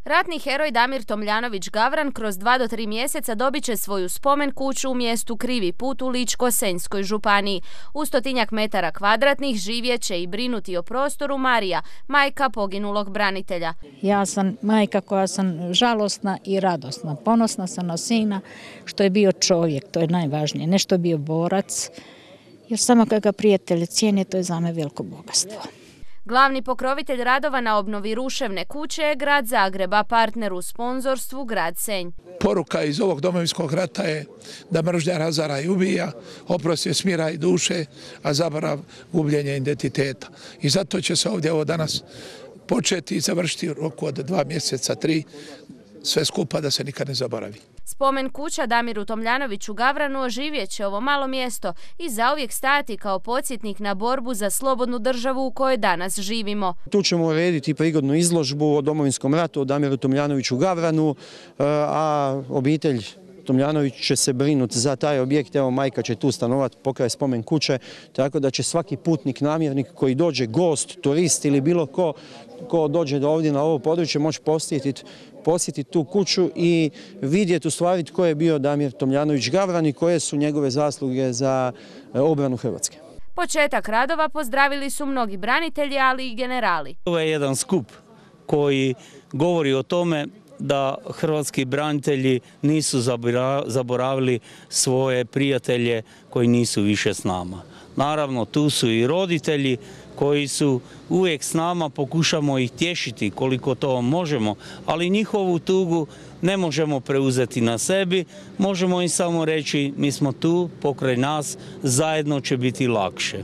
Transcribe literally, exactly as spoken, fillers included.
Ratni heroj Damir Tomljanović Gavran kroz dva do tri mjeseca dobit će svoju spomen kuću u mjestu Krivi Put u Ličko-senjskoj županiji. U stotinjak metara kvadratnih živjet će i brinuti o prostoru Marija, majka poginulog branitelja. Ja sam majka koja sam žalosna i radosna. Ponosna sam na sina što je bio čovjek, to je najvažnije, ne što je bio borac, jer samo kad ga prijatelji cijene, to je za me veliko bogatstvo. Glavni pokrovitelj radova na obnovi ruševne kuće je grad Zagreb, a partner u sponzorstvu grad Senj. Poruka iz ovog Domovinskog rata je da mržnja razara i ubija, oprost je smira i duše, a zaborav gubljenje identiteta. I zato će se ovdje ovo danas početi i završiti u roku od dva mjeseca, tri, sve skupa da se nikad ne zaboravi. Spomen kuća Damiru Tomljanoviću Gavranu oživjet će ovo malo mjesto i zauvijek stajati kao podsjetnik na borbu za slobodnu državu u kojoj danas živimo. Tu ćemo urediti prigodnu izložbu o Domovinskom ratu, o Damiru Tomljanoviću Gavranu, a obitelj Tomljanović će se brinuti za taj objekt. Evo, majka će tu stanovati pokraj spomen kuće, tako da će svaki putnik, namjernik koji dođe, gost, turist ili bilo ko ko dođe do ovdje na ovo područje moći posjetiti posjetiti tu kuću i vidjeti u stvari tko je bio Damir Tomljanović Gavran i koje su njegove zasluge za obranu Hrvatske. Početak radova pozdravili su mnogi branitelji, ali i generali. Ovo je jedan skup koji govori o tome da hrvatski branitelji nisu zaboravili svoje prijatelje koji nisu više s nama. Naravno, tu su i roditelji koji su uvijek s nama, pokušamo ih tješiti koliko to možemo, ali njihovu tugu ne možemo preuzeti na sebi, možemo im samo reći mi smo tu, pokraj nas, zajedno će biti lakše.